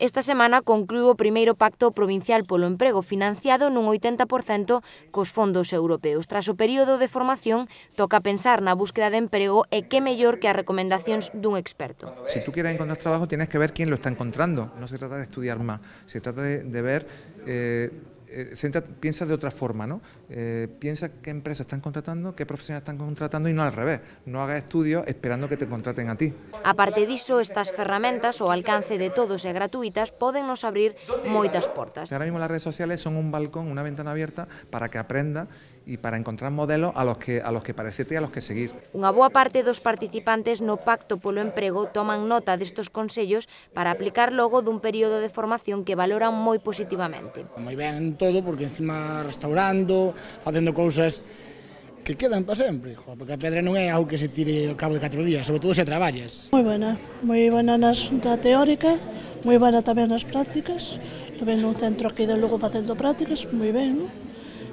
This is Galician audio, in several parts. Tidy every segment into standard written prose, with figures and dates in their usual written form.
Esta semana concluíu o primeiro Pacto Provincial polo Emprego, financiado nun 80% cos fondos europeos. Tras o período de formación, toca pensar na búsqueda de emprego e que mellor que as recomendacións dun experto. Si tú quieres encontrar trabajo, tienes que ver quién lo está encontrando. No se trata de estudiar más, se trata de ver... piensa de otra forma, ¿no? Piensa qué empresas están contratando, qué profesionales están contratando y no al revés. No hagas estudios esperando que te contraten a ti. A parte diso, estas ferramentas, ao alcance de todos e gratuitas, poden nos abrir moitas portas. Ahora mismo las redes sociales son un balcón, una ventana abierta para que aprenda y para encontrar modelos a los que parecerte y a los que seguir. Unha boa parte dos participantes no Pacto polo Emprego toman nota destes consellos para aplicar logo dun período de formación que valoran moi positivamente. Moi ben todo, porque encima restaurando, facendo cousas que quedan para sempre, porque a pedra non é algo que se tire ao cabo de 4 días, sobre todo se traballas. Moi buena na xunta teórica, moi buena tamén nas prácticas, tamén nun centro aquí de Lugo facendo prácticas, moi ben, non?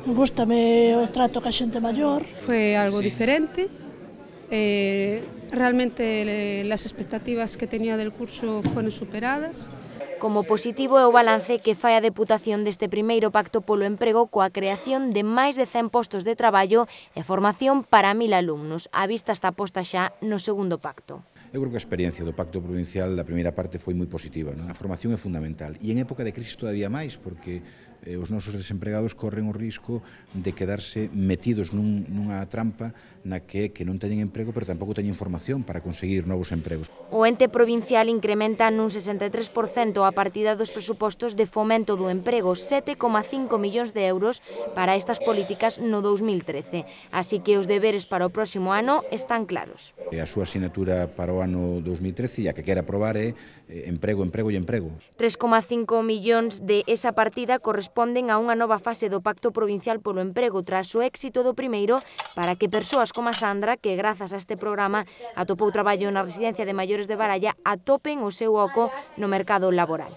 Gústame o trato ca xente maior. Fue algo diferente, realmente las expectativas que tenía del curso fueron superadas. Como positivo é o balance que fai a Deputación deste primeiro Pacto polo Emprego coa creación de máis de 100 postos de traballo e formación para 1000 alumnos. A vista está posta xa no segundo pacto. Eu creo que a experiencia do Pacto Provincial da primeira parte foi moi positiva, non? A formación é fundamental e en época de crisis todavía máis, porque os nosos desempregados corren o risco de quedarse metidos nunha trampa na que non teñen emprego, pero tampouco teñen formación para conseguir novos empregos. O ente provincial incrementa nun 63% a partida dos presupostos de fomento do emprego, 7,5 millóns de euros para estas políticas no 2013. Así que os deberes para o próximo ano están claros. A súa asignatura para o ano 2013 e a que quere aprobar é emprego, emprego e emprego. 3,5 millóns de esa partida corresponden a unha nova fase do Pacto Provincial polo Emprego tras o éxito do primeiro para que persoas como a Sandra, que grazas a este programa atopou traballo na residencia de maiores de Baralla, atopen o seu oco no mercado laboral.